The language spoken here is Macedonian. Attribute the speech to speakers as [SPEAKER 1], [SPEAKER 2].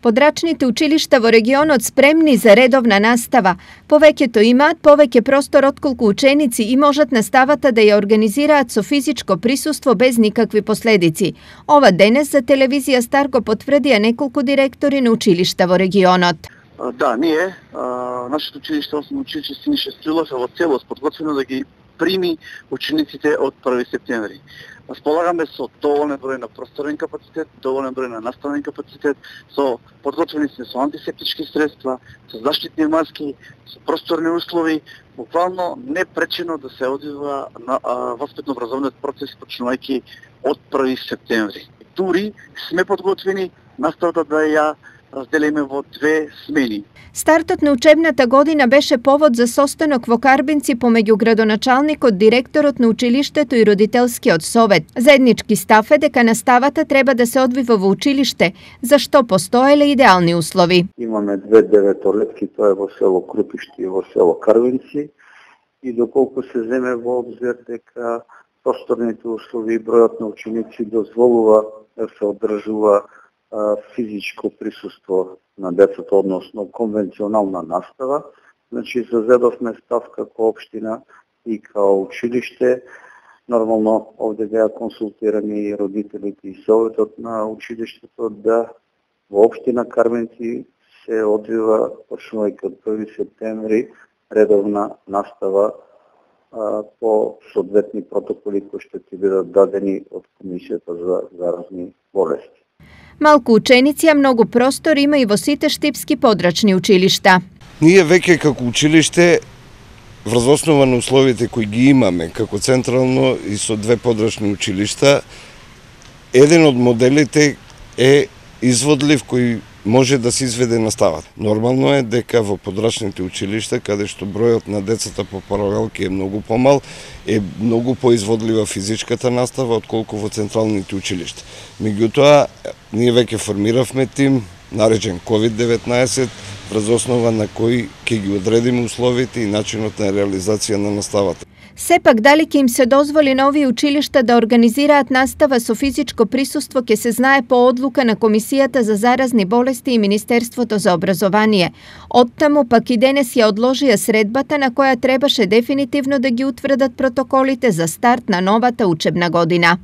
[SPEAKER 1] Подрачните училишта во регионот спремни за редовна настава. Повеќето имаат повеќе простор отколку ученици и можат наставата да ја организираат со физичко присуство без никакви последици. Ова денес за телевизија Стар го потврдија неколку директори на училишта во регионот.
[SPEAKER 2] Да, ние, нашето училиште, основно училиште Синише Стрилов е во целост подготвено да ги прими учениците од 1 септември. Располагаме со доволен број на просторен капацитет, доволен број на наставен капацитет, подготвени сме со антисептички средства, со заштитни маски, со просторни услови, буквално непречено да се одвива на воспитно-образовниот процес почнувајќи од 1 септември. Дури сме подготвени наставата да ја разделиме во 2 смени.
[SPEAKER 1] Стартот на учебната година беше повод за состанок во Карбинци помеѓу градоначалникот, директорот на училиштето и родителскиот совет. Заеднички став е дека наставата треба да се одвива во училиште, за што постоеле идеални услови.
[SPEAKER 3] Имаме 2 деветолетки, тоа е во село Крупишти и во село Карбинци, и доколку се земе во обзир дека просторните услови и бројот на ученици дозволува да се одржува физичко присуство на децата, односно конвенционална настава. Значи, зазедовме став како општина и као училиште. Нормално, овде беа консултирани и родителите и советот на училиштето да во општина Карбинци се одвива почнувајќи од 1 септември редовна настава по соодветни протоколи кои што ќе бидат дадени од Комисијата за заразни болести.
[SPEAKER 1] Малку ученици, а многу простор има и во сите штипски подрачни училишта.
[SPEAKER 4] Ние веќе како училиште, врз основа на условите кои ги имаме како централно и со 2 подрачни училишта, еден од моделите е изводлив кој може да се изведе наставата. Нормално е дека во подрачните училишта, каде што бројот на децата по паралелки е многу помал, е многу поизводлива физичката настава отколку во централните училишта. Меѓутоа, ние веќе формиравме тим, наречен COVID-19, врз основа на кој ќе ги одредиме условите и начинот на реализација на наставата.
[SPEAKER 1] Сепак, дали ќе им се дозволи на овие училишта да организираат настава со физичко присуство ќе се знае по одлука на Комисијата за заразни болести и Министерството за образование. Оттаму пак и денес ја одложија средбата на која требаше дефинитивно да ги утврдат протоколите за старт на новата учебна година.